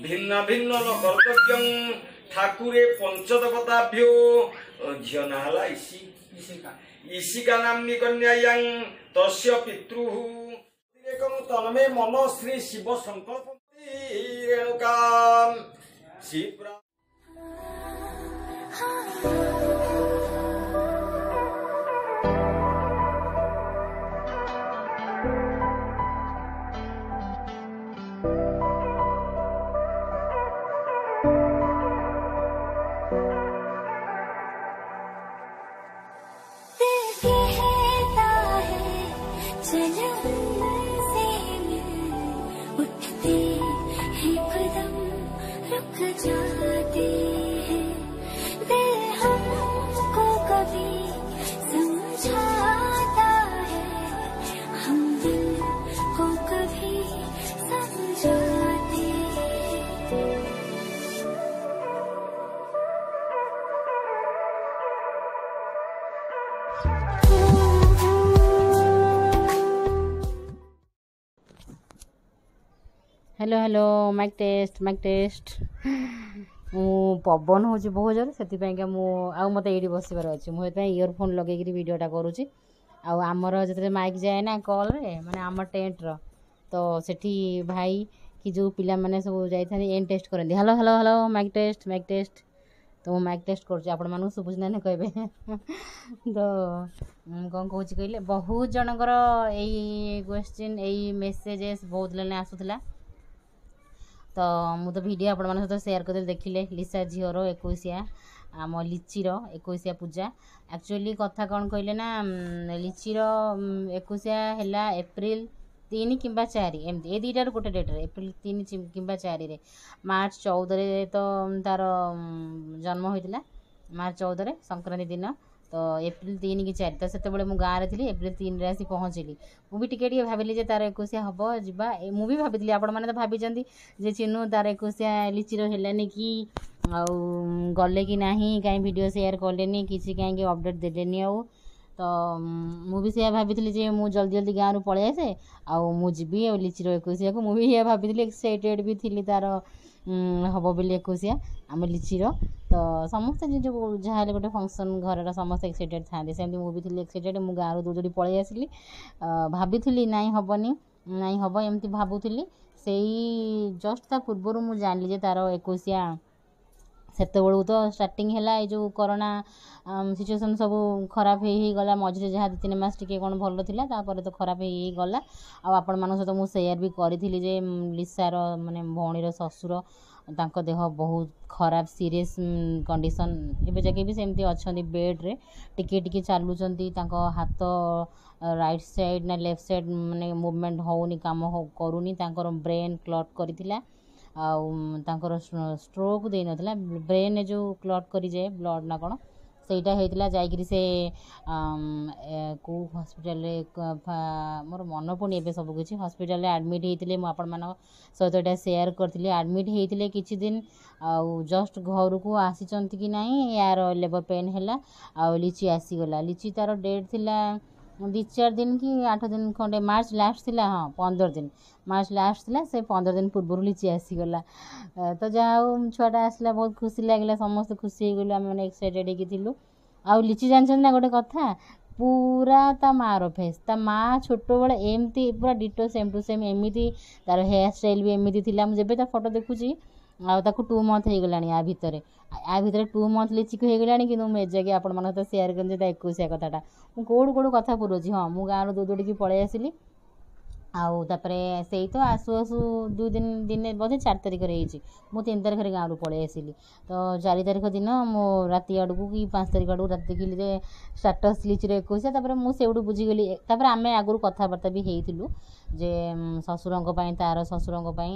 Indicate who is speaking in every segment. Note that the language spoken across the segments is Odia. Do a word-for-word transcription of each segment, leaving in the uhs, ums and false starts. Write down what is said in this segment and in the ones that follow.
Speaker 1: ଭିନ୍ନ ଭିନ୍ନ ନ କର୍ତ୍ତବ୍ୟଂ ଠାକୁରେ ପଞ୍ଚଦେବତାଭ୍ୟୋ। ଝିଅ ନାଁ ହେଲା ଇସି ଇଶିକା ନାମ୍ନୀ କନ୍ୟାୟାଂ ତସ୍ୟ ପିତୃଃ ତନ୍ମେ ମନ ଶ୍ରୀ ଶିବ ସଂକଳ୍ପ ରେଣୁକା ଶିପ୍ରା।
Speaker 2: जाते हैं दिल हमको कभी समझाता है, हम दिल को कभी समझाते हैं।
Speaker 3: Hello hello, mic test mic test. ମୁଁ ପବନ ହେଉଛି ବହୁତ ଜୋରେ, ସେଥିପାଇଁକା ମୁଁ ଆଉ ମୋତେ ଏଇଠି ବସିବାର ଅଛି, ମୁଁ ସେଥିପାଇଁ ଇୟରଫୋନ୍ ଲଗେଇକିରି ଭିଡ଼ିଓଟା କରୁଛି। ଆଉ ଆମର ଯେତେବେଳେ ମାଇକ୍ ଯାଏ ନା କଲ୍ରେ, ମାନେ ଆମ ଟେଣ୍ଟର, ତ ସେଠି ଭାଇ କି ଯେଉଁ ପିଲାମାନେ ସବୁ ଯାଇଥାନ୍ତି ଏନ୍ ଟେଷ୍ଟ କରନ୍ତି, hello hello hello mic test mic test. ତ ମୁଁ ମାଇକ୍ ଟେଷ୍ଟ କରୁଛି, ଆପଣମାନଙ୍କୁ ଶୁଭୁଛି ନା କହିବେ। ତ ମୁଁ କ'ଣ କହୁଛି କହିଲେ, ବହୁତ ଜଣଙ୍କର ଏଇ କ୍ୱେଶ୍ଚିନ୍, ଏଇ ମେସେଜେସ୍ ବହୁତ ଲାଇନ୍ ଆସୁଥିଲା। ତ ମୁଁ ତ ଭିଡ଼ିଓ ଆପଣମାନଙ୍କ ସହିତ ସେୟାର କରିଦେଲି, ଦେଖିଲେ ଲିସା ଝିଅର ଏକୋଇଶିଆ, ଆମ ଲିଚିର ଏକୋଇଶିଆ ପୂଜା। ଆକ୍ଚୁଆଲି କଥା କ'ଣ କହିଲେ ନା, ଲିଚିର ଏକୋଇଶିଆ ହେଲା ଏପ୍ରିଲ ତିନି କିମ୍ବା ଚାରି, ଏମିତି ଏ ଦୁଇଟାରୁ ଗୋଟେ ଡେଟ୍ରେ, ଏପ୍ରିଲ ତିନି କିମ୍ବା ଚାରିରେ। ମାର୍ଚ୍ଚ ଚଉଦରେ ତ ତା'ର ଜନ୍ମ ହୋଇଥିଲା, ମାର୍ଚ୍ଚ ଚଉଦରେ ସଂକ୍ରାନ୍ତି ଦିନ। ତ ଏପ୍ରିଲ ତିନି କି ଚାରି, ତ ସେତେବେଳେ ମୁଁ ଗାଁରେ ଥିଲି, ଏପ୍ରିଲ ତିନିରେ ଆସି ପହଞ୍ଚିଲି। ମୁଁ ବି ଟିକେ ଟିକେ ଭାବିଲି ଯେ ତା'ର ଏକୋଇଶିଆ ହେବ, ଯିବା। ମୁଁ ବି ଭାବିଥିଲି, ଆପଣମାନେ ତ ଭାବିଛନ୍ତି ଯେ ଚିନୁ ତା'ର ଏକୋଇଶିଆ ଲିଚିର ହେଲାନି କି, ଆଉ ଗଲେ କି ନାହିଁ, କାହିଁ ଭିଡ଼ିଓ ସେୟାର କଲେନି, କିଛି କାହିଁକି ଅପଡ଼େଟ୍ ଦେଲେନି। ଆଉ ତ ମୁଁ ବି ସେଇଆ ଭାବିଥିଲି ଯେ ମୁଁ ଜଲ୍ଦି ଜଲ୍ଦି ଗାଁରୁ ପଳେଇ ଆସେ ଆଉ ମୁଁ ଯିବି ଆଉ ଲିଚିର ଏକୋଇଶିଆକୁ। ମୁଁ ବି ସେଇଆ ଭାବିଥିଲି, ଏକ୍ସାଇଟେଡ଼୍ ବି ଥିଲି ତା'ର ହେବ ବୋଲି ଏକୋଇଶିଆ ଆମ ଲିଚିର। ତ ସମସ୍ତେ ଯେଉଁ ଯାହା ହେଲେ ଗୋଟେ ଫଙ୍କସନ୍ ଘରର ସମସ୍ତେ ଏକ୍ସାଇଟେଡ଼୍ ଥାଆନ୍ତି, ସେମିତି ମୁଁ ବି ଥିଲି ଏକ୍ସାଇଟେଡ଼୍। ମୁଁ ଗାଁରୁ ଦୌଡ଼ି ଦୌଡ଼ି ପଳେଇ ଆସିଲି, ଭାବିଥିଲି ନାଇଁ ହେବନି, ନାଇଁ ହେବ ଏମିତି ଭାବୁଥିଲି। ସେଇ ଜଷ୍ଟ ତା ପୂର୍ବରୁ ମୁଁ ଜାଣିଲି ଯେ ତା'ର ଏକୋଇଶିଆ। ସେତେବେଳକୁ ତ ଷ୍ଟାର୍ଟିଂ ହେଲା ଏଇ ଯେଉଁ କରୋନା ସିଚୁଏସନ୍ ସବୁ ଖରାପ ହେଇ ହେଇଗଲା। ମଝିରେ ଯାହା ଦୁଇ ତିନି ମାସ ଟିକେ କ'ଣ ଭଲ ଥିଲା, ତାପରେ ତ ଖରାପ ହେଇ ହେଇଗଲା। ଆଉ ଆପଣମାନଙ୍କ ସହିତ ମୁଁ ସେୟାର ବି କରିଥିଲି ଯେ ଲିସାର ମାନେ ଭଉଣୀର ଶ୍ୱଶୁର, ତାଙ୍କ ଦେହ ବହୁତ ଖରାପ, ସିରିୟସ୍ କଣ୍ଡିସନ୍, ଏବେ ଯାକେ ବି ସେମିତି ଅଛନ୍ତି ବେଡ଼୍ରେ, ଟିକେ ଟିକେ ଚାଲୁଛନ୍ତି। ତାଙ୍କ ହାତ ରାଇଟ୍ ସାଇଡ଼୍ ନା ଲେଫ୍ଟ ସାଇଡ଼୍ ମାନେ ମୁଭମେଣ୍ଟ ହେଉନି, କାମ କରୁନି। ତାଙ୍କର ବ୍ରେନ୍ କ୍ଲଟ୍ କରିଥିଲା, ଆଉ ତାଙ୍କର ଷ୍ଟ୍ରୋକ୍ ଦେଇନଥିଲା, ବ୍ରେନ୍ରେ ଯେଉଁ କ୍ଲଟ୍ କରିଯାଏ ବ୍ଲଡ଼୍ ନା କ'ଣ, ସେଇଟା ହେଇଥିଲା। ଯାଇକିରି ସେ କେଉଁ ହସ୍ପିଟାଲରେ, ମୋର ମନେ ପଡ଼ୁନି ଏବେ ସବୁକିଛି, ହସ୍ପିଟାଲରେ ଆଡ଼ମିଟ୍ ହେଇଥିଲେ। ମୁଁ ଆପଣମାନଙ୍କ ସହିତ ଏଇଟା ସେୟାର କରିଥିଲି। ଆଡ଼ମିଟ୍ ହେଇଥିଲେ କିଛି ଦିନ, ଆଉ ଜଷ୍ଟ ଘରକୁ ଆସିଛନ୍ତି କି ନାହିଁ ୟାର ଲେବର୍ ପେନ୍ ହେଲା ଆଉ ଲିଚି ଆସିଗଲା। ଲିଚି ତା'ର ଡେଟ୍ ଥିଲା ଦୁଇ ଚାରି ଦିନ କି ଆଠ ଦିନ ଖଣ୍ଡେ, ମାର୍ଚ୍ଚ ଲାଷ୍ଟ ଥିଲା, ହଁ ପନ୍ଦର ଦିନ, ମାର୍ଚ୍ଚ ଲାଷ୍ଟ ଥିଲା। ସେ ପନ୍ଦର ଦିନ ପୂର୍ବରୁ ଲିଚି ଆସିଗଲା। ତ ଯାହା ହଉ ଛୁଆଟା ଆସିଲା, ବହୁତ ଖୁସି ଲାଗିଲା, ସମସ୍ତେ ଖୁସି ହେଇଗଲୁ, ଆମେ ମାନେ ଏକ୍ସାଇଟେଡ଼୍ ହେଇକି ଥିଲୁ। ଆଉ ଲିଚି ଜାଣିଛନ୍ତି ନା ଗୋଟେ କଥା, ପୁରା ତା ମାଆର ଫେସ୍, ତା ମାଆ ଛୋଟବେଳେ ଏମିତି ପୁରା ଡିଟୋ ସେମ୍ ଟୁ ସେମ୍ ଏମିତି, ତା'ର ହେୟାର ଷ୍ଟାଇଲ୍ ବି ଏମିତି ଥିଲା। ମୁଁ ଯେବେ ତା ଫଟୋ ଦେଖୁଛି, ଆଉ ତାକୁ ଟୁ ମନ୍ଥ ହେଇଗଲାଣି, ୟା ଭିତରେ ୟା ଭିତରେ ଟୁ ମନ୍ଥ ଲିଚିକୁ ହେଇଗଲାଣି, କିନ୍ତୁ ମୁଁ ଏଯାକେ ଆପଣମାନଙ୍କ ସହିତ ସେୟାର କରିନି ତା ଏକୋଇଶିଆ କଥାଟା। ମୁଁ କେଉଁଠୁ କେଉଁଠୁ କଥା ପୁରଉଛି। ହଁ, ମୁଁ ଗାଁରୁ ଦୌଡ଼ି ଦୌଡ଼ିକି ପଳେଇ ଆସିଲି। ଆଉ ତାପରେ ସେଇ ତ ଆସୁ ଆସୁ ଦୁଇ ଦିନ, ଦିନେ ବୋଧେ ଚାରି ତାରିଖରେ ହେଇଛି, ମୁଁ ତିନି ତାରିଖରେ ଗାଁରୁ ପଳେଇ ଆସିଲି। ତ ଚାରି ତାରିଖ ଦିନ ମୁଁ ରାତି ଆଡ଼କୁ କି ପାଞ୍ଚ ତାରିଖ ଆଡ଼କୁ ରାତି ଦେଖିଲି ଯେ ଷ୍ଟାଟସ୍ ଲିଚିର ଏକୋଇଶିଆ। ତାପରେ ମୁଁ ସେଇଠୁ ବୁଝିଗଲି। ତାପରେ ଆମେ ଆଗରୁ କଥାବାର୍ତ୍ତା ବି ହେଇଥିଲୁ ଯେ ଶ୍ୱଶୁରଙ୍କ ପାଇଁ, ତା'ର ଶ୍ୱଶୁରଙ୍କ ପାଇଁ,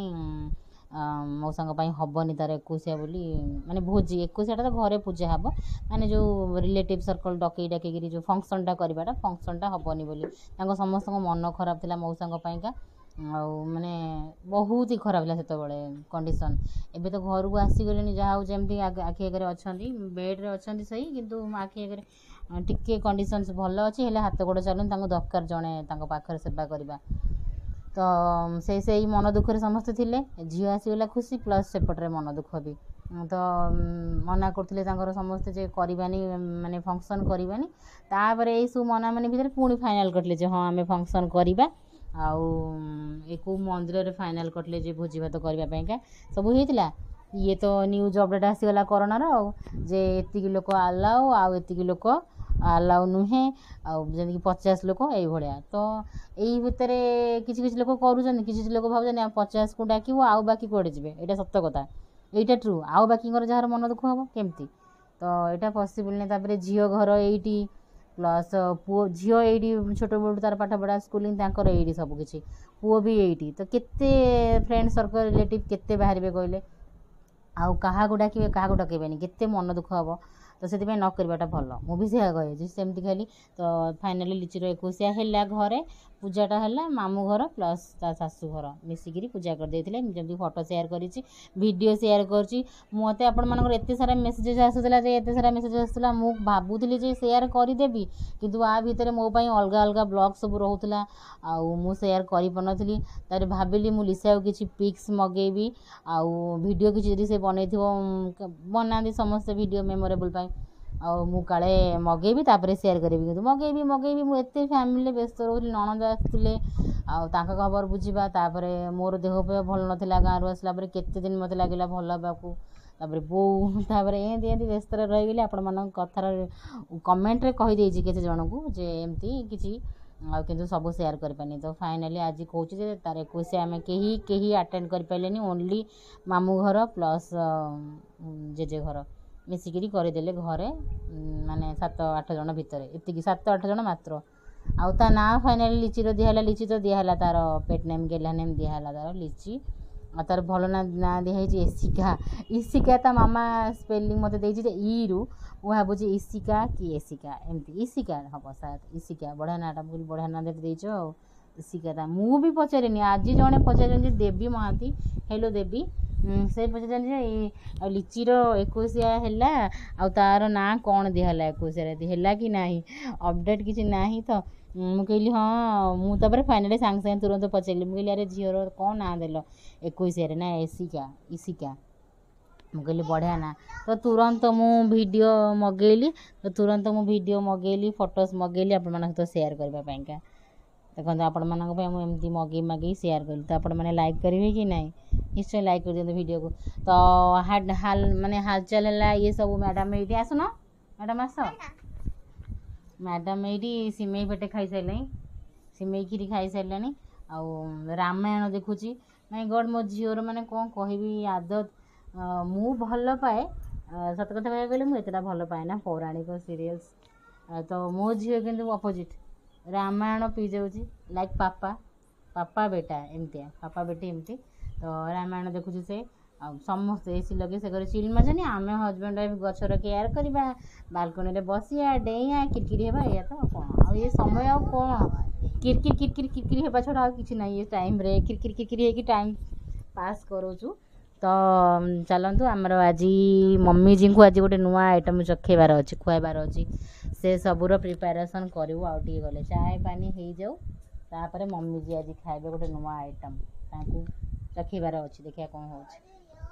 Speaker 3: ମଉସାଙ୍କ ପାଇଁ ହେବନି ତା'ର ଏକୋଇଶିଆ ବୋଲି, ମାନେ ଭୋଜି ଏକୋଇଶିଆଟା ତ ଘରେ ପୂଜା ହେବ, ମାନେ ଯେଉଁ ରିଲେଟିଭ୍ ସର୍କଲ୍ ଡକେଇ ଡାକେଇକିରି ଯେଉଁ ଫଙ୍କସନ୍ଟା କରିବାଟା, ଫଙ୍କସନ୍ଟା ହେବନି ବୋଲି ତାଙ୍କ ସମସ୍ତଙ୍କ ମନ ଖରାପ ଥିଲା ମଉସାଙ୍କ ପାଇଁକା। ଆଉ ମାନେ ବହୁତ ହି ଖରାପ ଥିଲା ସେତେବେଳେ କଣ୍ଡିସନ୍। ଏବେ ତ ଘରକୁ ଆସିଗଲେଣି, ଯାହା ହଉ ଯେମିତି ଆଖି ଆଗରେ ଅଛନ୍ତି, ବେଡ଼୍ରେ ଅଛନ୍ତି ସେଇ, କିନ୍ତୁ ଆଖି ଆଗରେ ଟିକେ କଣ୍ଡିସନ୍ସ ଭଲ ଅଛି, ହେଲେ ହାତ ଗୋଡ଼ ଚାଲୁନି, ତାଙ୍କୁ ଦରକାର ଜଣେ ତାଙ୍କ ପାଖରେ ସେବା କରିବା। ତ ସେଇ ସେଇ ମନ ଦୁଃଖରେ ସମସ୍ତେ ଥିଲେ। ଝିଅ ଆସିଗଲା ଖୁସି, ପ୍ଲସ୍ ସେପଟରେ ମନ ଦୁଃଖ ବି। ତ ମନା କରୁଥିଲେ ତାଙ୍କର ସମସ୍ତେ ଯେ କରିବାନି, ମାନେ ଫଙ୍କସନ୍ କରିବାନି। ତାପରେ ଏଇସବୁ ମନାମନି ଭିତରେ ପୁଣି ଫାଇନାଲ୍ କରିଥିଲେ ଯେ ହଁ, ଆମେ ଫଙ୍କସନ୍ କରିବା। ଆଉ ଏ କେଉଁ ମନ୍ଦିରରେ ଫାଇନାଲ୍ କରିଥିଲେ ଯେ ଭୋଜି ଭାତ କରିବା ପାଇଁକା ସବୁ ହେଇଥିଲା। ଇଏ ତ ନ୍ୟୁଜ୍ ଅପଡ଼େଟ୍ ଆସିଗଲା କରୋନାର, ଆଉ ଯେ ଏତିକି ଲୋକ ଆଲାଉ ଆଉ ଏତିକି ଲୋକ ଆଲାଉ ନୁହେଁ, ଆଉ ଯେମିତିକି ପଚାଶ ଲୋକ ଏଇଭଳିଆ। ତ ଏଇ ଭିତରେ କିଛି କିଛି ଲୋକ କରୁଛନ୍ତି, କିଛି କିଛି ଲୋକ ଭାବୁଛନ୍ତି ଆମେ ପଚାଶକୁ ଡାକିବୁ, ଆଉ ବାକି କୁଆଡ଼େ ଯିବେ? ଏଇଟା ସତ କଥା, ଏଇଟା ଟ୍ରୁ। ଆଉ ବାକିଙ୍କର ଯାହାର ମନ ଦୁଃଖ ହେବ କେମିତି? ତ ଏଇଟା ପସିବୁଲ୍ ନାହିଁ। ତାପରେ ଝିଅ ଘର ଏଇଠି, ପ୍ଲସ୍ ପୁଅ ଝିଅ ଏଇଠି, ଛୋଟବେଳୁ ତାର ପାଠପଢ଼ା, ସ୍କୁଲିଂ ତାଙ୍କର ଏଇଠି ସବୁ କିଛି, ପୁଅ ବି ଏଇଠି। ତ କେତେ ଫ୍ରେଣ୍ଡ ସର୍କଲ୍, ରିଲେଟିଭ୍ କେତେ ବାହାରିବେ କହିଲେ? ଆଉ କାହାକୁ ଡାକିବେ, କାହାକୁ ଡକେଇବେନି, କେତେ ମନ ଦୁଃଖ ହେବ। ତ ସେଥିପାଇଁ ନ କରିବାଟା ଭଲ, ମୁଁ ବି ସେଇଆ କହିଛି ସେମିତି ଖାଲି। ତ ଫାଇନାଲି ଲିଚିର ଏକୋଇଶିଆ ହେଲା, ଘରେ ପୂଜାଟା ହେଲା। ମାମୁଁ ଘର ପ୍ଲସ୍ ତା ଶାଶୁ ଘର ମିଶିକିରି ପୂଜା କରିଦେଇଥିଲେ। ଯେମିତି ଫଟୋ ସେୟାର କରିଛି, ଭିଡ଼ିଓ ସେୟାର କରିଛି। ମୋତେ ଆପଣମାନଙ୍କର ଏତେ ସାରା ମେସେଜେସ୍ ଆସୁଥିଲା ଯେ, ଏତେ ସାରା ମେସେଜ୍ ଆସୁଥିଲା, ମୁଁ ଭାବୁଥିଲି ଯେ ସେୟାର କରିଦେବି, କିନ୍ତୁ ଆ ଭିତରେ ମୋ ପାଇଁ ଅଲଗା ଅଲଗା ବ୍ଲଗ୍ ସବୁ ରହୁଥିଲା ଆଉ ମୁଁ ସେୟାର କରିପାରୁନଥିଲି। ତାପରେ ଭାବିଲି ମୁଁ ଲିସାକୁ କିଛି ପିକ୍ସ ମଗେଇବି ଆଉ ଭିଡ଼ିଓ କିଛି ଯଦି ସେ ବନେଇଥିବ, ବନାନ୍ତି ସମସ୍ତେ ଭିଡ଼ିଓ ମେମୋରେବୁଲ୍ ପାଇଁ, ଆଉ ମୁଁ କାଳେ ମଗେଇବି, ତାପରେ ସେୟାର କରିବି। କିନ୍ତୁ ମଗେଇବି ମଗେଇବି, ମୁଁ ଏତେ ଫ୍ୟାମିଲିରେ ବ୍ୟସ୍ତ ରହୁଥିଲି। ନଣନ୍ଦ ଆସିଥିଲେ ଆଉ ତାଙ୍କ ଖବର ବୁଝିବା, ତାପରେ ମୋର ଦେହ ଫେହ ଭଲ ନଥିଲା ଗାଁରୁ ଆସିଲା ପରେ, କେତେ ଦିନ ମୋତେ ଲାଗିଲା ଭଲ ହେବାକୁ, ତାପରେ ବୋଉ, ତାପରେ ଏମିତି ଏମିତି ବ୍ୟସ୍ତରେ ରହିଗଲି। ଆପଣମାନଙ୍କ କଥାର କମେଣ୍ଟରେ କହିଦେଇଛି କେତେ ଜଣଙ୍କୁ ଯେ ଏମିତି କିଛି, ଆଉ କିନ୍ତୁ ସବୁ ସେୟାର କରିପାରିନି। ତ ଫାଇନାଲି ଆଜି କହୁଛି ଯେ ତାର ଏକୋଇଶିଆ ଆମେ କେହି କେହି ଆଟେଣ୍ଡ କରିପାରିଲେନି, ଓନ୍ଲି ମାମୁଁ ଘର ପ୍ଲସ୍ ଜେଜେ ଘର ମିଶିକିରି କରିଦେଲେ ଘରେ, ମାନେ ସାତ ଆଠ ଜଣ ଭିତରେ, ଏତିକି ସାତ ଆଠ ଜଣ ମାତ୍ର। ଆଉ ତା ନାଁ ଫାଇନାଲି ଲିଚିର ଦିଆହେଲା। ଲିଚି ତ ଦିଆହେଲା, ତାର ପେଟ୍ ନେମ୍, ଗେହ୍ଲା ନେମ୍ ଦିଆହେଲା ତାର ଲିଚି। ଆଉ ତାର ଭଲ ନାଁ ନାଁ ଦିଆହେଇଛି ଏସିକା, ଇସିକା। ତା ମାମା ସ୍ପେଲିଂ ମୋତେ ଦେଇଛି ଯେ ଇରୁ, ମୁଁ ଭାବୁଛି ଇସିକା କି ଏସିକା, ଏମିତି ଇସିକା ହେବ ସାୟଦ। ଇସିକା ବଢ଼ିଆ ନାଁଟା। ମୁଁ କହିଲି ବଢ଼ିଆ ନାଁ ଦେଇଛ ଆଉ ଇସିକା ତା। ମୁଁ ବି ପଚାରିନି, ଆଜି ଜଣେ ପଚାରିଛନ୍ତି, ଦେବୀ ମହାନ୍ତି, ହେଲୋ ଦେବୀ, ସେ ପଚାରିଛନ୍ତି ଯେ ଆଉ ଲିଚିର ଏକୋଇଶିଆ ହେଲା ଆଉ ତାର ନାଁ କ'ଣ ଦିଆହେଲା, ଏକୋଇଶିଆରେ ହେଲା କି ନାହିଁ, ଅପଡ଼େଟ୍ କିଛି ନାହିଁ। ତ ମୁଁ କହିଲି ହଁ। ମୁଁ ତାପରେ ଫାଇନାଲି ସାଙ୍ଗେ ସାଙ୍ଗେ ତୁରନ୍ତ ପଚାରିଲି, ମୁଁ କହିଲି ଆରେ ଝିଅର କ'ଣ ନାଁ ଦେଲ ଏକୋଇଶିଆରେ? ନା ଏସିକା, ଇସିକା। ମୁଁ କହିଲି ବଢ଼ିଆ ନାଁ। ତ ତୁରନ୍ତ ମୁଁ ଭିଡ଼ିଓ ମଗେଇଲି, ତ ତୁରନ୍ତ ମୁଁ ଭିଡ଼ିଓ ମଗେଇଲି, ଫଟୋସ୍ ମଗେଇଲି ଆପଣମାନଙ୍କ ସହିତ ସେୟାର କରିବା ପାଇଁକା। ଦେଖନ୍ତୁ, ଆପଣମାନଙ୍କ ପାଇଁ ମୁଁ ଏମିତି ମଗେଇ ମଗେଇ ସେୟାର କଲି, ତ ଆପଣମାନେ ଲାଇକ୍ କରିବେ କି ନାହିଁ? ନିଶ୍ଚୟ ଲାଇକ୍ କରିଦିଅନ୍ତୁ ଭିଡ଼ିଓକୁ। ତ ହାଲ ମାନେ ହାଲଚାଲ ହେଲା ଇଏ ସବୁ। ମ୍ୟାଡ଼ାମ୍ ଏଇଠି, ଆସୁନ ମ୍ୟାଡ଼ାମ୍, ଆସ ମ୍ୟାଡ଼ାମ୍। ଏଇଠି ସିମେଇ ପେଟେ ଖାଇସାରିଲାଣି, ସିମେଇ କ୍ଷୀରି ଖାଇସାରିଲାଣି ଆଉ ରାମାୟଣ ଦେଖୁଛି। ମାଇ ଗଡ଼୍, ମୋ ଝିଅର ମାନେ କ'ଣ କହିବି ଆଦତ। ମୁଁ ଭଲ ପାଏ, ସତ କଥା କହିବାକୁ ଗଲେ ମୁଁ ଏତେଟା ଭଲ ପାଏ ନା ପୌରାଣିକ ସିରିଏଲ୍ସ। ତ ମୋ ଝିଅ କିନ୍ତୁ ଅପୋଜିଟ୍, ରାମାୟଣ ପିଇ ଯାଉଛି, ଲାଇକ୍ ପାପା, ପାପା ବେଟା ଏମିତିଆ, ପାପା ବେଟି ଏମିତି। ତ ରାମାୟଣ ଦେଖୁଛି ସେ, ଆଉ ସମସ୍ତେ ଏସି ଲଗେଇ ସେ ଘରେ ଚିଲ୍ ମାରୁଛନ୍ତି। ଆମେ ହଜବେଣ୍ଡ ୱାଇଫ୍ ଗଛର କେୟାର କରିବା, ବାଲକୋନିରେ ବସିବା, ଡେଇଁଆ, କିରକିରି ହେବା, ଏଇଆ ତ। ଆଉ କ'ଣ ଆଉ ଏ ସମୟ? ଆଉ କ'ଣ, କିରକିରି କିରକିରି କିରକିରି ହେବା ଛଡ଼ା ଆଉ କିଛି ନାହିଁ। ଏ ଟାଇମ୍ରେ କିରକିରି କିରକିରି ହେଇକି ଟାଇମ୍ ପାସ୍ କରୁଛୁ। ତ ଚାଲନ୍ତୁ, ଆମର ଆଜି ମମିଜୀଙ୍କୁ ଆଜି ଗୋଟେ ନୂଆ ଆଇଟମ୍ ଚଖେଇବାର ଅଛି, ଖୁଆଇବାର ଅଛି। ସେ ସବୁର ପ୍ରିପାରେସନ୍ କରିବୁ ଆଉ ଟିକେ ଗଲେ, ଚାଏ ପାନି ହେଇଯାଉ, ତାପରେ ମମିଜୀ ଆଜି ଖାଇବେ ଗୋଟେ ନୂଆ ଆଇଟମ୍, ତାଙ୍କୁ ଚଖେଇବାର ଅଛି। ଦେଖିବା କ'ଣ ହେଉଛି।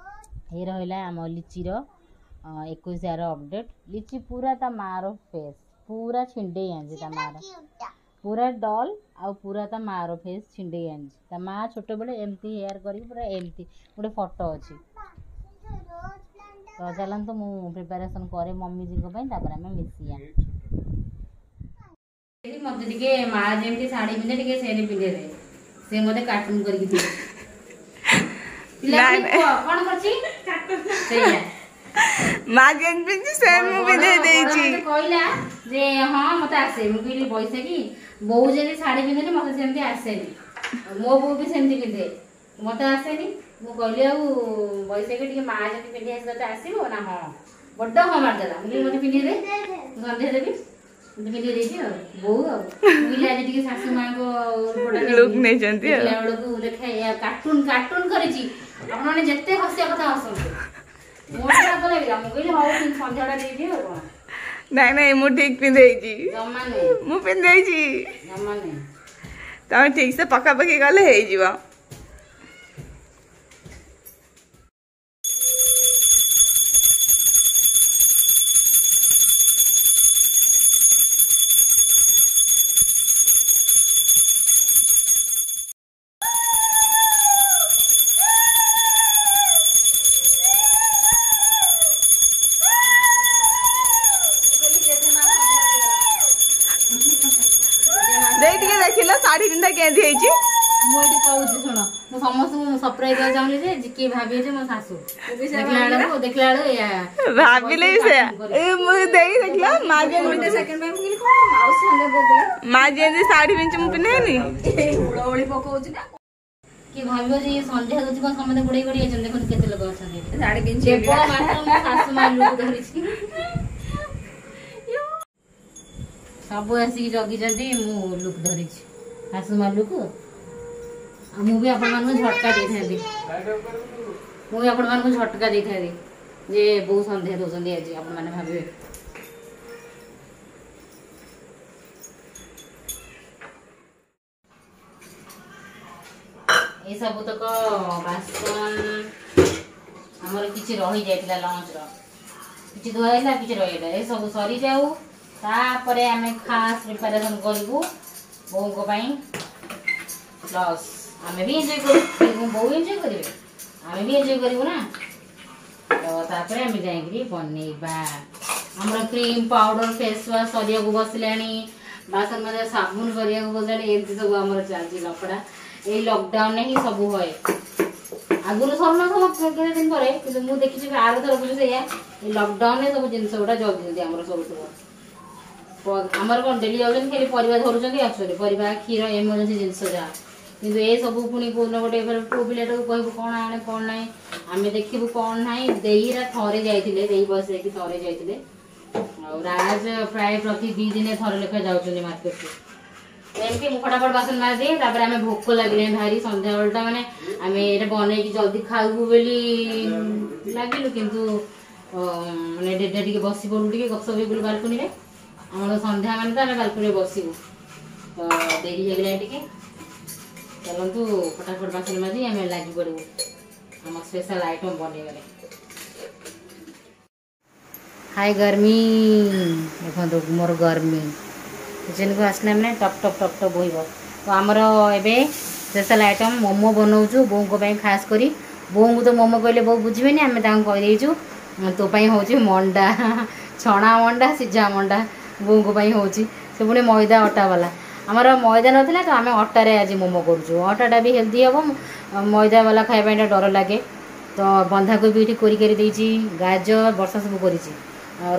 Speaker 3: ଏଇ ରହିଲା ଆମ ଲିଚିର ଏକୋଇଶିଆର ଅପଡ଼େଟ୍। ଲିଚି ପୁରା ତା ମାଆର ଫେସ୍ ପୁରା ଛିଣ୍ଡେଇ ଆଣିଛି, ତା ମାଆର ପୁରା ଡଲ୍ ଆଉ ପୁରା ତା ମାଆର ଫେସ୍ ଛିଣ୍ଡେଇ ଆଣିଛି। ତା ମାଆ ଛୋଟବେଳେ ଏମିତି ହେୟାର କରିକି ପୁରା ଏମିତି ଗୋଟେ ଫଟୋ ଅଛି। ତ ଚାଲନ୍ତୁ, ମୁଁ ପ୍ରିପାରେସନ୍ କରେ ମମିଜୀଙ୍କ ପାଇଁ, ତାପରେ ଆମେ ମିଶିବା। ମତେ ଟିକେ ମା ଯେମିତି ଶାଢ଼ୀ ପିନ୍ଧେ ଟିକେ ସେମିତି ପିନ୍ଧେଇଦେ। ସେ ମତେ କାର୍ଟୁନ କରିକି ଦିଏ। କଣ କରୁଛି ସେଇଆ।
Speaker 4: ମା ଯେମିତି ପିନ୍ଧି ସେ ମୁଁ ପିନ୍ଧେଇ ଦେଇଛି।
Speaker 3: କହିଲା ଯେ ହଁ, ମତେ ଆସେ। ମୁଁ କହିଲି ବୈଶାଖୀ, ବୋଉ ଯେମିତି ଶାଢ଼ୀ ପିନ୍ଧେନି, ମତେ ସେମିତି ଆସେନି। ମୋ ବୋଉ ବି ସେମିତି ପିନ୍ଧେ, ମତେ ଆସେନି। ମୁଁ କହିଲି ଆଉ ବୈଶାଖୀ, ଟିକେ ମା ଯେମିତି ପିନ୍ଧି ଆସେ ତତେ ଆସିବ ନା? ହଁ, ବଡ ହଁ ମାରିଦେଲା। ମୁଁ କହିଲି ମତେ ପିନ୍ଧେଇ ଦେ, ମୁଁ ସନ୍ଧ୍ୟା ଦେବି। ମତେ ପିନ୍ଧେଇ ଦେଇଛି ଆଉ ବୋଉ। ଆଉ ମୁଁ କହିଲି ଆଜି ଟିକେ ଶାଶୁ ମାଙ୍କ
Speaker 4: ଲୁକ୍ ନେଇଛନ୍ତି।
Speaker 3: ଦେଖିଲା ବେଳକୁ ଦେଖେ କାର୍ଟୁନ କାର୍ଟୁନ କରିଛି। ଆପଣମାନେ ଯେତେ ହସିବା କଥା ହସନ୍ତୁ, ମୋର ରାଗ ଲାଗିଲା। ମୁଁ କହିଲି ହଉ, ସନ୍ଧ୍ୟାଟା ଦେଇଦିଅ ଆଉ କଣ।
Speaker 4: ନାଇଁ ନାଇଁ, ମୁଁ ଠିକ ପିନ୍ଧେଇଛି।
Speaker 3: ଜମା ନୁହେଁ।
Speaker 4: ମୁଁ ପିନ୍ଧେଇଛି।
Speaker 3: ଜମା ନୁହେଁ।
Speaker 4: ତମେ ଠିକ ସେ ପକାପକି କଲେ ହେଇଯିବ। ଦେଇ ଟିକେ ଦେଖିଲ ଶାଢୀ ପିନ୍ଧା କେମିତି ହେଇଛି।
Speaker 3: ମୁଁ ଏଠି କହୁଛି ଶୁଣ, ମୁଁ ସମସ୍ତଙ୍କୁ ସରପ୍ରାଇଜ ଦେବାକୁ ଚାହୁଁନି ଯେ କିଏ ଭାବିବେ ଯେ ମୋ ଶାଶୁ, ଦେଖିଲା ବେଳକୁ ଦେଖିଲା ବେଳକୁ ଏଇଆ
Speaker 4: ଭାବିଲେ ବି ସେୟା। ଏ ମୁଁ ଦେଇ ଦେଖିଲ ମା ଯେମିତି ମା ଯେମିତି ଶାଢୀ ପିନ୍ଧି ମୁଁ ପିନ୍ଧେନି।
Speaker 3: କିଏ ଭାବିବ ଯେ ଇଏ ସନ୍ଧ୍ୟା ଦଉଛି କଣ, ସମସ୍ତେ ଗୋଡେଇ ଗୋଡେଇ ଯାଇଛନ୍ତି। ଦେଖନ୍ତୁ କେତେ ଲୋକ ଅଛନ୍ତି, କେବଳ ମାତ୍ର ମୋ ଶାଶୁ ମା ଲୁକ ଧରିଛି। ସବୁ ଆସିକି ଜଗିଛନ୍ତି, ମୁଁ ଲୁକ୍ ଧରିଛି ଶାଶୁ ମା ଲୁକ୍। ଆଉ ମୁଁ ବି ଆପଣମାନଙ୍କୁ ଝଟକା ଦେଇଥାନ୍ତି, ମୁଁ ବି ଆପଣମାନଙ୍କୁ ଝଟକା ଦେଇଥାନ୍ତି ଯେ ବୋଉ ସନ୍ଧ୍ୟା ଦଉଛନ୍ତି ଆଜି, ଆପଣମାନେ ଭାବିବେ। ଏ ସବୁତକ ବାସନ ଆମର କିଛି ରହିଯାଇଥିଲା ଲଞ୍ଚର, କିଛି ଧୁଆ ହେଇଥିଲା କିଛି ରହିଯାଇଥିଲା। ଏସବୁ ସରିଯାଉ, ତାପରେ ଆମେ ଖାସ୍ ପ୍ରିପାରେସନ୍ କରିବୁ ବୋଉଙ୍କ ପାଇଁ। ପ୍ଲସ୍ ଆମେ ବି ଏନ୍ଜୟ କରିବୁ, ବୋଉ ଏନ୍ଜୟ କରିବେ, ଆମେ ବି ଏନ୍ଜୟ କରିବୁ ନା। ତ ତାପରେ ଆମେ ଯାଇକିରି ବନେଇବା। ଆମର କ୍ରିମ୍ ପାଉଡର ଫେସ୍ ୱାଶ୍ ସରିବାକୁ ବସିଲାଣି, ବାସନ ମଜା ସାବୁନ ସରିବାକୁ ବସିଲାଣି। ଏମିତି ସବୁ ଆମର ଚାଲିଛି ଲଫଡ଼ା। ଏଇ ଲକଡାଉନରେ ହିଁ ସବୁ ହୁଏ, ଆଗରୁ ସରୁନଥିବ କେତେ ଦିନ ପରେ, କିନ୍ତୁ ମୁଁ ଦେଖିଛି ଆର ଥରକୁ ବି ସେଇଆ। ଏଇ ଲକଡାଉନରେ ସବୁ ଜିନିଷ ଗୁଡ଼ା ଜଲ୍ଦି ଜଲ୍ଦି ଆମର ସରୁଥିବ। ଆମର କଣ ଡେଲି ଯାଉଛନ୍ତି, ଖାଲି ପରିବା ଧରୁଛନ୍ତି ଆସୁଛନ୍ତି, ପରିବା କ୍ଷୀର ଏମର୍ଜେନ୍ସି ଜିନିଷ ଯାହା। କିନ୍ତୁ ଏ ସବୁ ପୁଣି କୋଉଦିନ ଗୋଟେ ପୁଅ ପିଲାଟାକୁ କହିବୁ କଣ ଆଣେ କଣ ନାହିଁ, ଆମେ ଦେଖିବୁ କଣ ନାହିଁ। ଦେଇରା ଥରେ ଯାଇଥିଲେ, ଦେଇ ବସ ଯାଇକି ଥରେ ଯାଇଥିଲେ। ଆଉ ରାଜ ପ୍ରାୟ ପ୍ରତି ଦି ଦିନେ ଥରେ ଲେଖା ଯାଉଛନ୍ତି ମାର୍କେଟକୁ। ଏମିତି ମୁଁ ଫଟାଫଟ ବାସନ ମାରିଦିଏ, ତାପରେ ଆମେ ଭୋକ ଲାଗିଲାଣି ଭାରି ସନ୍ଧ୍ୟାବେଳଟା, ମାନେ ଆମେ ଏଇଟା ବନେଇକି ଜଲ୍ଦି ଖାଇବୁ ବୋଲି ଲାଗିଲୁ, କିନ୍ତୁ ମାନେ ଡେରି ଟିକେ ବସି ପଡୁ ଟିକେ ଗପସପ ହେଇଗଲୁ ବାଲକୁନିରେ। ଆମର ସନ୍ଧ୍ୟା ମାନେ ତ ଆମେ ବାଲକୁନିରେ ବସିବୁ, ତ ଡେରି ହେଇଗଲାଣି ଟିକେ। ଚାଲନ୍ତୁ ଫଟାଫଟ ବାସନ ମାଜି ଆମେ ଲାଗି ପଡ଼ିବୁ ଆମ ସ୍ପେଶାଲ ଆଇଟମ୍ ବନେଇବାରେ। ହାଇ ଗରମି, ଦେଖନ୍ତୁ ମୋର ଗରମି କିଚେନକୁ ଆସିଲା ମାନେ ଟପ୍ ଟପ୍ ଟପ୍ ଟପ୍ ବୋହିବ। ତ ଆମର ଏବେ ସ୍ପେଶାଲ ଆଇଟମ୍ ମୋମୋ ବନଉଛୁ ବୋଉଙ୍କ ପାଇଁ ଖାସ୍ କରି। ବୋଉଙ୍କୁ ତ ମୋମୋ କହିଲେ ବୋଉ ବୁଝିବେନି, ଆମେ ତାଙ୍କୁ କହିଦେଇଛୁ ତୋ ପାଇଁ ହେଉଛି ମଣ୍ଡା, ଛଣା ମଣ୍ଡା ସିଝା ମଣ୍ଡା ବୋଉଙ୍କ ପାଇଁ ହେଉଛି। ସେ ପୁଣି ମଇଦା ଅଟା ବାଲା, ଆମର ମଇଦା ନଥିଲା ତ ଆମେ ଅଟାରେ ଆଜି ମୋମୋ କରୁଛୁ। ଅଟାଟା ବି ହେଲ୍ଦି ହେବ, ମଇଦା ବାଲା ଖାଇବା ପାଇଁ ଡର ଲାଗେ। ତ ବନ୍ଧାକୋବି ଏଠି କୋରି କରି ଦେଇଛି, ଗାଜର ବର୍ଷା ସବୁ କରିଛି,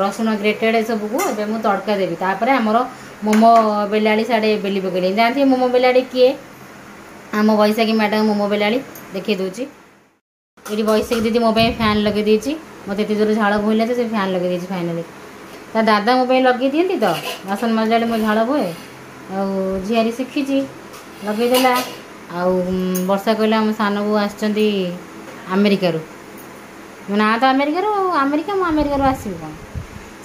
Speaker 3: ରସୁଣ ଗ୍ରେଟେଡ଼ ଏସବୁକୁ ଏବେ ମୁଁ ତଡ଼କା ଦେବି। ତାପରେ ଆମର ମୋମୋ ବେଲାଳି ସାଡ଼େ ବେଲି ପକେଇଲେଣି। ଜାଣିଥିବେ ମୋମୋ ବେଲାଳି କିଏ, ଆମ ବୈଶାଖୀ ମ୍ୟାଡ଼ାମ୍ ମୋମୋ ବେଲାଳି ଦେଖେଇ ଦେଉଛି। ଏଠି ବୈଶାଖୀ ଦିଦି ମୋ ପାଇଁ ଫ୍ୟାନ୍ ଲଗେଇ ଦେଇଛି, ମୋତେ ଏତେ ଜୋର ଝାଳ ବୋହିଲା ଯେ ସେ ଫ୍ୟାନ୍ ଲଗେଇ ଦେଇଛି ଫାଇନାଲି। ତା ଦାଦା ମୋ ପାଇଁ ଲଗେଇ ଦିଅନ୍ତି ତ, ବାସନ ମାଜିଲା ବେଳେ ମୋ ଝାଳ ବୋହେ, ଆଉ ଝିଆରୀ ଶିଖିଛି ଲଗେଇଦେଲା। ଆଉ ବର୍ଷା କହିଲା ଆମ ସାନ ବୋଉ ଆସିଛନ୍ତି ଆମେରିକାରୁ, ମୋ ନାଁ ତ ଆମେରିକାରୁ, ଆଉ ଆମେରିକା ମୁଁ ଆମେରିକାରୁ ଆସିବି କ'ଣ।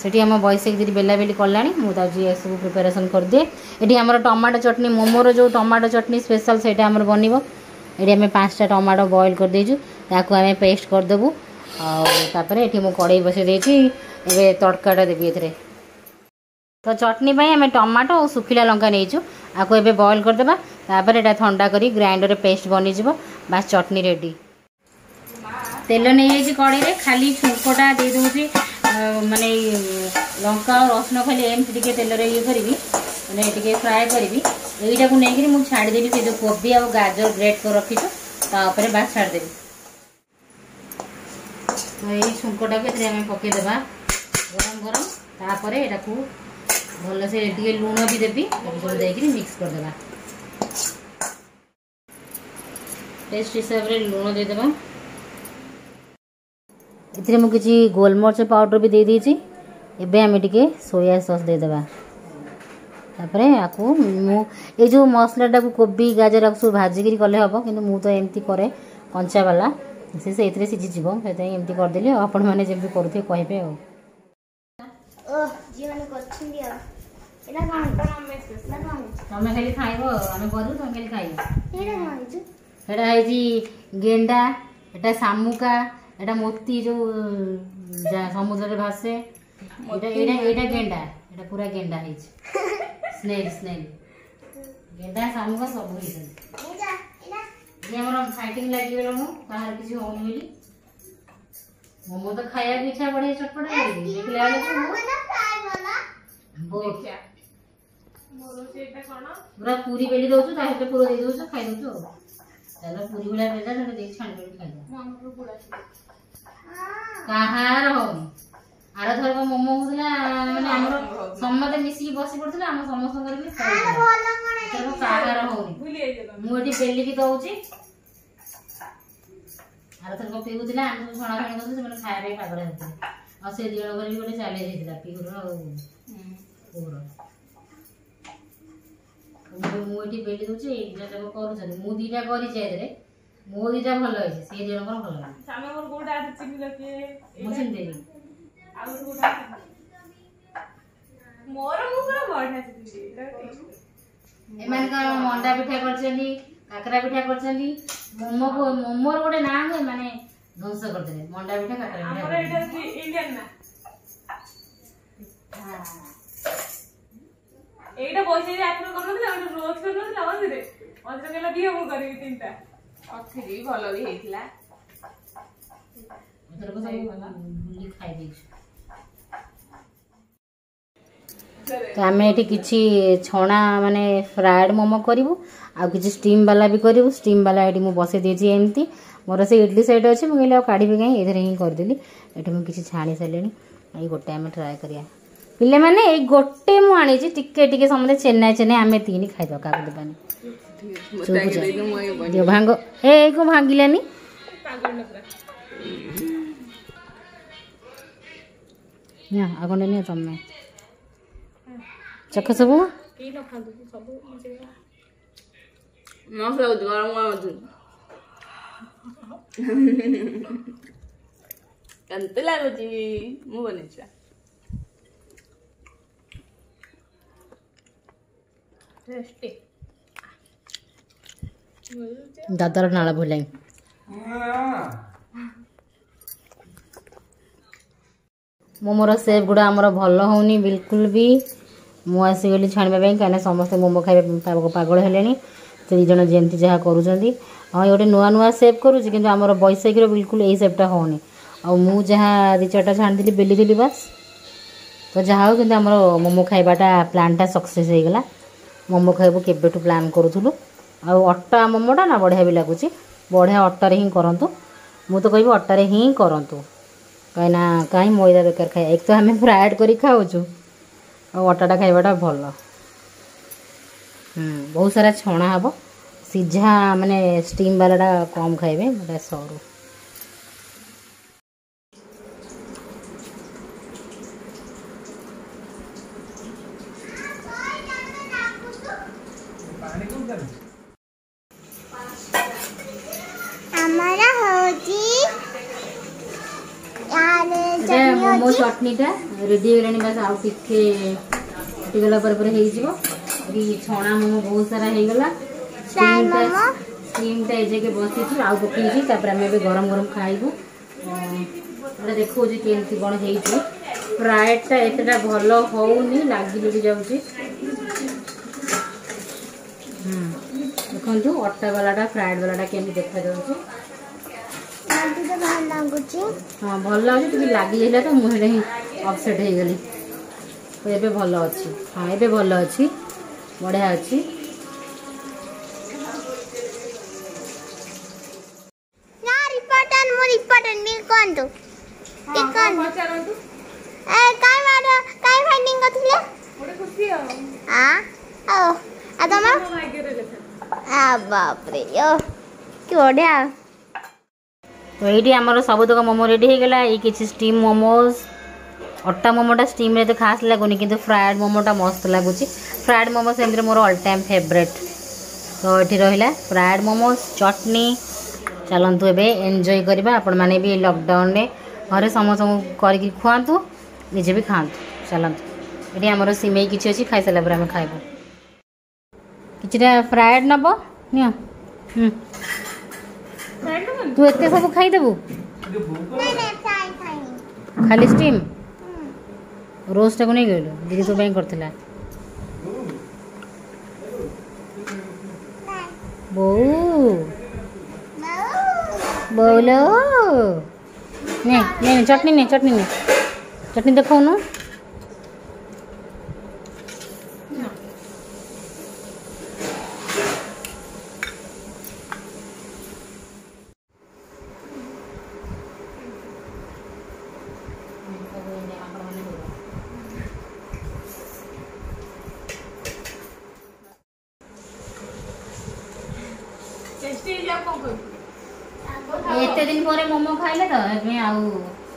Speaker 3: ସେଠି ଆମ ବୈଶାଖୀ ଦିଦି ବେଲାବେଲି କଲାଣି, ମୁଁ ଯାଉଛି ଏସବୁ ପ୍ରିପାରେସନ୍ କରିଦିଏ। ଏଠି ଆମର ଟମାଟୋ ଚଟଣି, ମୋମୋର ଯେଉଁ ଟମାଟୋ ଚଟଣି ସ୍ପେଶାଲ୍ ସେଇଟା ଆମର ବନିବ। ଏଠି ଆମେ ପାଞ୍ଚଟା ଟମାଟୋ ବଏଲ୍ କରିଦେଇଛୁ, ତାକୁ ଆମେ ପେଷ୍ଟ କରିଦେବୁ। ଆଉ ତାପରେ ଏଠି ମୁଁ କଡ଼େଇ ବସେଇ ଦେଇଛି, ଏବେ ତଡ଼କାଟା ଦେବି ଏଥିରେ। ତ ଚଟଣି ପାଇଁ ଆମେ ଟମାଟୋ ଆଉ ଶୁଖିଲା ଲଙ୍କା ନେଇଛୁ, ଆକୁ ଏବେ ବଏଲ୍ କରିଦେବା। ତାପରେ ଏଇଟା ଥଣ୍ଡା କରି ଗ୍ରାଇଣ୍ଡରରେ ପେଷ୍ଟ ବନିଯିବ, ବାସ୍ ଚଟଣି ରେଡ଼ି। ତେଲ ନେଇଯାଇଛି କଡ଼େଇରେ, ଖାଲି ଛୁଙ୍କଟା ଦେଇଦେଉଛି, ମାନେ ଲଙ୍କା ଆଉ ରସୁଣ ଖାଲି ଏମିତି ଟିକେ ତେଲରେ ଇଏ କରିବି, ମାନେ ଟିକେ ଫ୍ରାଏ କରିବି। ଏଇଟାକୁ ନେଇକିରି ମୁଁ ଛାଡ଼ିଦେବି ସେ ଯେଉଁ କୋବି ଆଉ ଗାଜର ଗ୍ରେଟ୍ କରି ରଖିଛୁ ତା ଉପରେ ବାସ୍ ଛାଡ଼ିଦେବି। ତ ଏଇ ଛୁଙ୍କଟାକୁ ଏଥିରେ ଆମେ ପକେଇଦେବା ଗରମ ଗରମ। ତାପରେ ଏଟାକୁ ଭଲସେ ଟିକେ ଲୁଣ ବି ଦେବି, ତାକୁ ସବୁ ଦେଇକିରି ମିକ୍ସ କରିଦେବା। ଟେଷ୍ଟ ହିସାବରେ ଲୁଣ ଦେଇଦେବା। ଏଥିରେ ମୁଁ କିଛି ଗୋଲମରିଚ ପାଉଡ଼ର ବି ଦେଇଦେଇଛି। ଏବେ ଆମେ ଟିକେ ସୋୟା ସସ୍ ଦେଇଦେବା। ତାପରେ ଆକୁ ମୁଁ ଏଇ ଯେଉଁ ମସଲାଟାକୁ କୋବି ଗାଜର ଆକୁ ସବୁ ଭାଜିକିରି କଲେ ହେବ, କିନ୍ତୁ ମୁଁ ତ ଏମିତି କରେ କଞ୍ଚା ବାଲା, ସେ ସେଇଥିରେ ସିଝିଯିବ, ସେଥିପାଇଁ ଏମିତି କରିଦେଲି। ଆଉ ଆପଣମାନେ ଯେମିତି କରୁଥିବେ କହିବେ। ଆଉ
Speaker 2: ଝିଅମାନେ କରୁଛନ୍ତି ଆଉ
Speaker 3: ତମେ ଖାଲି ଖାଇବ, ଆମେ କରିବୁ, ତମେ ଖାଲି ଖାଇବ। ସେଟା ହେଇଛି ଗେଣ୍ଡା, ଏଟା ଶାମୁକା, ଏଟା ମୋତି ଯୋଉ ସମୁଦ୍ରରେ ଭାସେ। ଏଇଟା ଏଇଟା ଏଇଟା ଗେଣ୍ଡା, ଏଟା ପୁରା ଗେଣ୍ଡା ହେଇଛି। ସ୍ନେଲ ସ୍ନେଲ ଗେଣ୍ଡା ଶାମୁକା ସବୁ ହେଇଛନ୍ତି। ଇଏ ଆମର ଫାଇଟିଂ ଲାଗିଗଲାଣୁ, କାହାର କିଛି ହଉନି ବୋଲି। ମୋମୋ ତ ଖାଇବାକୁ ଇଚ୍ଛା, ବଢିଆ ଚଟପଟା ଲାଗେ ଦେଖିଲା ବେଳକୁ ବହୁତ ପୁରା ପୁରୀ ବେଲି ଦଉଛୁ, ତା ଭିତରେ ପୁର ଦେଇ ଦଉଛୁ, ଖାଇ ଦଉଛୁ। ଆଉ ଚାଲ ପୁରୀ ଭଳିଆ ବେଲା ସେଟା ଦେଇକି ଛାଣି ଛାଣି ଖାଇଦବା। କାହାର ହଉନି। ଆର ଥରକ ମୋମୋ ହଉଥିଲା, ମାନେ ଆମର ସମସ୍ତେ ମିଶିକି ବସି ପଡୁଥିଲେ, ଆମ ସମସ୍ତଙ୍କର ବି ଏଥରକ କାହାର ହଉନି। ମୁଁ ଏଠି ବେଲିକି ଦଉଛି। ଆର ଥରକ ପିଉଥିଲା, ଆମେ ସବୁ ଛଣା ଛଣି କରୁଥିଲୁ, ସେମାନେ ଖାଇବା ପାଇଁ ପାଗଳ ହେଉଥିଲେ। ଆଉ ସେ ଦି ଜଣଙ୍କର ବି ଗୋଟେ ଚ୍ୟାଲେଞ୍ଜ ହେଇଥିଲା, ପିହୁର ଆଉ ପୁଅର। ମୁଁ ଏଠି ବେଲି ଦଉଛି, ଏଇ ଦିଟା ଯାକ କରୁଛନ୍ତି। ମୁଁ ଦିଟା କରିଛି, ଏଥିରେ ମୋ ଦିଟା ଭଲ ହେଇଛି, ସେ ଦି ଜଣଙ୍କର ଭଲ ହେଇନି। ମୁଁ ଚିନିଦେବି। ଏମାନେ କଣ ମଣ୍ଡା ପିଠା କରିଛନ୍ତି, କାକରା ପିଠା କରିଛନ୍ତି, ମୋମୋକୁ ମୋମୋର ଗୋଟେ ନାଁ ଏମାନେ ଧ୍ୱଂସ କରିଦେଲେ। ମଣ୍ଡା ପିଠା, କାକରା ପିଠା।
Speaker 4: ଏଇଟା ପଇସା ଆଥର କରୁନଥିଲା, ଗୋଟେ ରୋଜ କରୁନଥିଲା ମଝିରେ ମଝିରେ, କହିଲା ଦିଅ ମୁଁ କରିବି ତିନିଟା।
Speaker 5: କରିଥିଲି, ଭଲ ବି ହେଇଥିଲା।
Speaker 3: ଏଥରକ ସବୁ ବୁଲି ଖାଇ ଦେଇଛୁ। ତ ଆମେ ଏଠି କିଛି ଛଣା ମାନେ ଫ୍ରାଏଡ୍ ମୋମୋ କରିବୁ, ଆଉ କିଛି ଷ୍ଟିମ୍ ବାଲା ବି କରିବୁ। ଷ୍ଟିମ୍ ବାଲା ଏଠି ମୁଁ ବସେଇ ଦେଇଛି ଏମିତି। ମୋର ସେ ଇଡ଼ଲି ସାଇଡ଼୍ ଅଛି, ମୁଁ କହିଲି ଆଉ କାଢ଼ିବି କାହିଁ, ଏଥିରେ ହିଁ କରିଦେଲି। ଏଠି ମୁଁ କିଛି ଛାଣି ସାରିଲିଣି। ଏଇ ଗୋଟେ ଆମେ ଟ୍ରାଏ କରିବା ପିଲାମାନେ। ଏଇ ଗୋଟେ ମୁଁ ଆଣିଛି, ଟିକେ ଟିକେ ସମସ୍ତେ ଚେନ୍ନାଇ ଚେନ୍ନାଇ ଆମେ ତିନି ଖାଇଦେବା, କାହାକୁ ଦେବାନି। ଦିଅ ଭାଙ୍ଗ। ଏ କଣ ଭାଙ୍ଗିଲାନି? ନିଅ, ଆଉ କଣ ନିଅ ତମେ, ଚଖ ସବୁ।
Speaker 5: ମସ୍ତ ଲାଗୁଛି, ଗରମ ଗରମ ଅଛି। କେମିତି ଲାଗୁଛି? ମୁଁ ବନେଇଛି।
Speaker 4: ଟେଷ୍ଟି।
Speaker 3: ଦାଦାର ନାଳ ବୋହିଲାଣି। ମୋମୋର ସେପ୍ ଗୁଡ଼ା ଆମର ଭଲ ହେଉନି ବିଲକୁଲ ବି। ମୁଁ ଆସିଗଲି ଛାଣିବା ପାଇଁ, କାହିଁକିନା ସମସ୍ତେ ମୋମୋ ଖାଇବା ପାଇଁ ପାଗଳ ହେଲେଣି। ସେ ଦୁଇ ଜଣ ଯେମିତି ଯାହା କରୁଛନ୍ତି। ହଁ, ଗୋଟେ ନୂଆ ନୂଆ ସେପ୍ କରୁଛି, କିନ୍ତୁ ଆମର ବୈଶାଖୀର ବିଲକୁଲ ଏଇ ସେପ୍ଟା ହେଉନି। ଆଉ ମୁଁ ଯାହା ଦୁଇ ଚାରିଟା ଛାଣିଥିଲି, ବେଲିଥିଲି ବାସ୍। ତ ଯାହା ହଉ, କିନ୍ତୁ ଆମର ମୋମୋ ଖାଇବାଟା ପ୍ଲାନ୍ଟା ସକ୍ସେସ୍ ହେଇଗଲା। ମୋମୋ ଖାଇବୁ କେବେଠୁ ପ୍ଲାନ୍ କରୁଥିଲୁ। ଆଉ ଅଟା ମୋମୋଟା ନା ବଢ଼ିଆ ବି ଲାଗୁଛି। ବଢ଼ିଆ ଅଟାରେ ହିଁ କରନ୍ତୁ, ମୁଁ ତ କହିବି ଅଟାରେ ହିଁ କରନ୍ତୁ, କାହିଁକିନା କାହିଁ ମଇଦା ବେକାର ଖାଇବା। ଏକ ତ ଆମେ ଫ୍ରାଏଡ଼୍ କରି ଖାଉଛୁ, ଆଉ ଅଟାଟା ଖାଇବାଟା ଭଲ। ବହୁତ ସାରା ଛଣା ହେବ, ସିଝା ମାନେ ଷ୍ଟିମ୍ ବାଲାଟା କମ୍ ଖାଇବେ, ଏଟା ସରୁ।
Speaker 2: ଆମର ହଉଛି
Speaker 3: ମୋମୋ ଚଟଣିଟା ରେଡ଼ି ହେଇଗଲାଣି, ବାସ୍ ଆଉ ଟିକେ ଫୁଟିଗଲା ପରେ ପରେ ହେଇଯିବ। ଏଠି ଛଣା ମୋମୋ ବହୁତ ସାରା ହେଇଗଲା, ଷ୍ଟିମ୍ଟା ଏ ଯାକେ ବସିଛି, ଆଉ ପକେଇଛି। ତାପରେ ଆମେ ଏବେ ଗରମ ଗରମ ଖାଇବୁ। ଏଟା ଦେଖାଉଛି କେମିତି କ'ଣ ହେଇଛି। ଫ୍ରାଏଡ଼ଟା ଏତେଟା ଭଲ ହଉନି, ଲାଗି ଲୁଗି ଯାଉଛି। ଦେଖନ୍ତୁ ଅଟା ବାଲାଟା, ଫ୍ରାଏଡ୍ ବାଲାଟା କେମିତି ଦେଖାଯାଉଛି।
Speaker 2: ଭଲ ଲାଗୁଛି।
Speaker 3: ହଁ, ଭଲ ଲାଗୁଛି, ଟିକେ ଲାଗିଯାଇଥିଲା ତ ମୁଁ ସେଇଟା ହିଁ ଅପସେଟ୍ ହେଇଗଲି। ତ ଏବେ ଭଲ ଅଛି। ହଁ, ଏବେ ଭଲ ଅଛି, ବଢ଼ିଆ ଅଛି।
Speaker 2: ରିପୋର୍ଟର, ମୁଁ ରିପୋର୍ଟର, ଟିକେ କୁହନ୍ତୁ, ଟିକେ କୁହନ୍ତୁ।
Speaker 4: ପଚାରନ୍ତୁ।
Speaker 2: ଏ କାଇଁ ମାଡ଼, କାଇଁ ଫାଇଟିଂ କରିଥିଲେ?
Speaker 4: ଗୋଟେ ଖୁସି ଆଉ।
Speaker 2: ଆ ଆଉ ଆଉ ତମର
Speaker 4: ମୋ ଭାଗ୍ୟରେ ଲେଖା।
Speaker 2: ଆ ବାପରେ, ଓ କି ବଢ଼ିଆ।
Speaker 3: ତ ଏଇଠି ଆମର ସବୁତକ ମୋମୋ ରେଡ଼ି ହେଇଗଲା। ଏଇ କିଛି ଷ୍ଟିମ୍ ମୋମୋସ୍। ଅଟା ମୋମୋଟା ଷ୍ଟିମ୍ରେ ଏତେ ଖାସ୍ ଲାଗୁନି, କିନ୍ତୁ ଫ୍ରାଏଡ଼୍ ମୋମୋଟା ମସ୍ତ ଲାଗୁଛି। ଫ୍ରାଏଡ଼୍ ମୋମୋ ସେମିତିରେ ମୋର ଅଲ୍ ଟାଇମ୍ ଫେଭରେଟ୍। ତ ଏଠି ରହିଲା ଫ୍ରାଏଡ଼୍ ମୋମୋସ୍, ଚଟନି। ଚାଲନ୍ତୁ ଏବେ ଏନ୍ଜୟ କରିବା। ଆପଣମାନେ ବି ଲକଡାଉନରେ ଘରେ ସମସ୍ତଙ୍କୁ କରିକି ଖୁଆନ୍ତୁ, ନିଜେ ବି ଖାଆନ୍ତୁ। ଚାଲନ୍ତୁ ଏଠି ଆମର ସିମେଇ କିଛି ଅଛି, ଖାଇସାରିଲା ପରେ ଆମେ ଖାଇବୁ। କିଛିଟା ଫ୍ରାଏଡ୍ ନବ ନିଅ। ହୁଁ, ତୁ ଏତେ ସବୁ ଖାଇଦେବୁ? ଖାଲି ଷ୍ଟିମ୍ ରୋଜଟାକୁ ନେଇଗଲୁ, ଦିଦି ତୋ ପାଇଁ କରିଥିଲା। ବୋଉ ବୋଉଲୋ, ନେ ନେ, ଚଟଣି ନେ, ଚଟଣି ନେ, ଚଟଣି ଦେଖାଉନୁ।
Speaker 4: ଟେଷ୍ଟି ହେଇଛି, ଆଉ କଣ କହିବୁ?
Speaker 3: ଏତେ ଦିନ ପରେ ମୋମୋ ଖାଇଲେ ତ ସେଥିପାଇଁ ଆଉ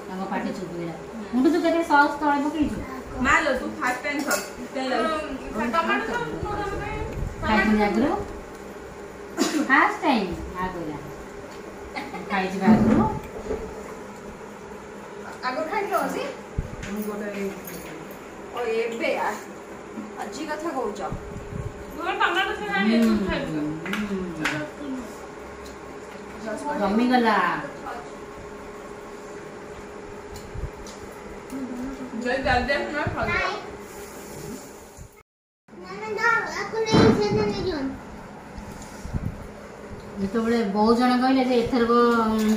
Speaker 3: ତାଙ୍କ ପାଟି ଚୁପିଲା। ମୁଣ୍ଡ ତୁ କେତେ ସସ୍ ତଳେ ପକେଇଛୁ?
Speaker 5: ମା ଲୋ, ତୁ ଫାର୍ଷ୍ଟ ଟାଇମ୍ ଖାଉ।
Speaker 4: ଟମାଟୋ ସସ୍ ମୁଁ ତମ ପାଇଁ
Speaker 3: ଖାଇଥିଲି ଆଗରୁ? ଫାର୍ଷ୍ଟ ଟାଇମ୍ ମା କହିଲା, ଖାଇଛି ବା ଆଗରୁ।
Speaker 6: ଆଗରୁ ଖାଇଥିଲ ଅଛି? ଓ ଏବେ ଆଜି କଥା କହୁଛ?
Speaker 4: ମୁଁ ଟମାଟୋ ସସ୍ ଆଣି ତୁ ଖାଇବୁ।
Speaker 3: ଜମିଗଲା।
Speaker 5: ଜଲ୍ଦି ଜଲ୍ଦି ଆସୁନ ଖାଉ।
Speaker 3: ଯେତେବେଳେ ବହୁତ ଜଣ କହିଲେ ଯେ ଏଥରକ,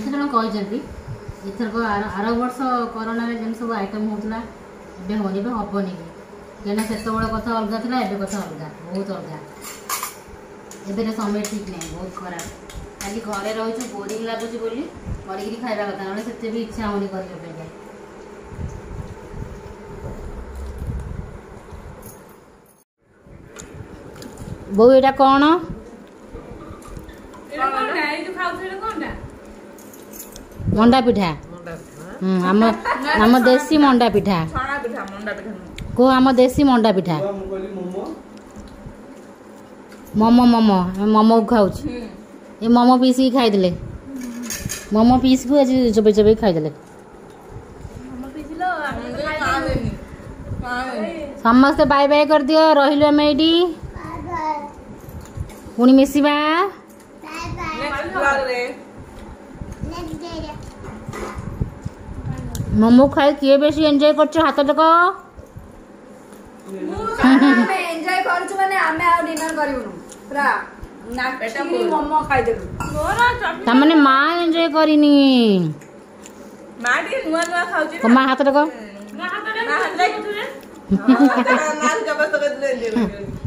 Speaker 3: ସେ ଜଣ କହିଛନ୍ତି ଏଥରକ, ଆର ଆର ବର୍ଷ କରୋନାରେ ଯେମିତି ସବୁ ଆଇଟମ୍ ହେଉଥିଲା ଏବେ ହେଉନି, ଏବେ ହେବନି ବି। କାହିଁକିନା ସେତେବେଳେ କଥା ଅଲଗା ଥିଲା, ଏବେ କଥା ଅଲଗା, ବହୁତ ଅଲଗା। ଏବେର ସମୟ ଠିକ୍ ନାହିଁ, ବହୁତ ଖରାପ। ଖାଲି ଘରେ ରହିଛୁ, ବୋରିଂ ଲାଗୁଛି ବୋଲି କରିକିରି ଖାଇବା କଥା, ନହେଲେ ସେତେ ବି ଇଚ୍ଛା ହେଉନି କରିବା ପାଇଁକା। ବୋଉ, ଏଇଟା କ'ଣ?
Speaker 4: ଏଇଟା କଣଟା? ଏଇ ଯୋଉ ଖାଉଛୁ ଏଇଟା କଣଟା?
Speaker 3: ମଣ୍ଡା ପିଠା। ହୁଁ, ଆମ ଆମ ଦେଶୀ ମଣ୍ଡା ପିଠା।
Speaker 5: ଛଣା ପିଠା, ମଣ୍ଡା ପିଠା ନୁହଁ।
Speaker 3: କୁହ, ଆମ ଦେଶୀ ମଣ୍ଡା ପିଠା। ମୋମୋ, ମୋମୋ, ଆମେ ମୋମୋକୁ ଖାଉଛୁ। ଏ ମୋମୋ ପିସିକି ଖାଇଦେଲେ, ମୋମୋ ପିସ୍କୁ ଆଜି ଚୋବେଇ ଚୋବେଇ ଖାଇଦେଲେ।
Speaker 4: ପିସିଲ, ଆମେ ତ ଖାଇଦେଲୁ।
Speaker 3: ସମସ୍ତେ ବାଏ ବାଏ କରିଦିଅ। ରହିଲୁ ଆମେ ଏଇଠି, ପୁଣି ମିଶିବା।
Speaker 5: ନେକ୍ସଟ ବ୍ଲଗରେ।
Speaker 3: ମୋମୋ ଖାଇ କିଏ ବେଶୀ ଏନ୍ଜୟ କରୁଛ, ହାତ ଟେକ।
Speaker 6: ଆମେ ଏନ୍ଜୟ କରୁଛୁ ମାନେ ଆମେ ଆଉ ଡିନର କରିବୁନୁ, ପୁରା ନାଚିକି ମୋମୋ ଖାଇଦେଲୁ।
Speaker 4: ମୋର ଚଟଣି।
Speaker 3: ତାମାନେ ମା ଏନ୍ଜୟ କରିନି।
Speaker 5: ମା ଟିକେ ନୂଆ ନୂଆ ଖାଉଛି।
Speaker 3: ମା, ହାତ ଟେକ।
Speaker 4: ମୋ ହାତରେ।
Speaker 5: ମା ହାତ ଟେକ। ମା ଜବରଦସ୍ତ କରିଦେଲେ ଏନ୍ଜୟ କରିବନି।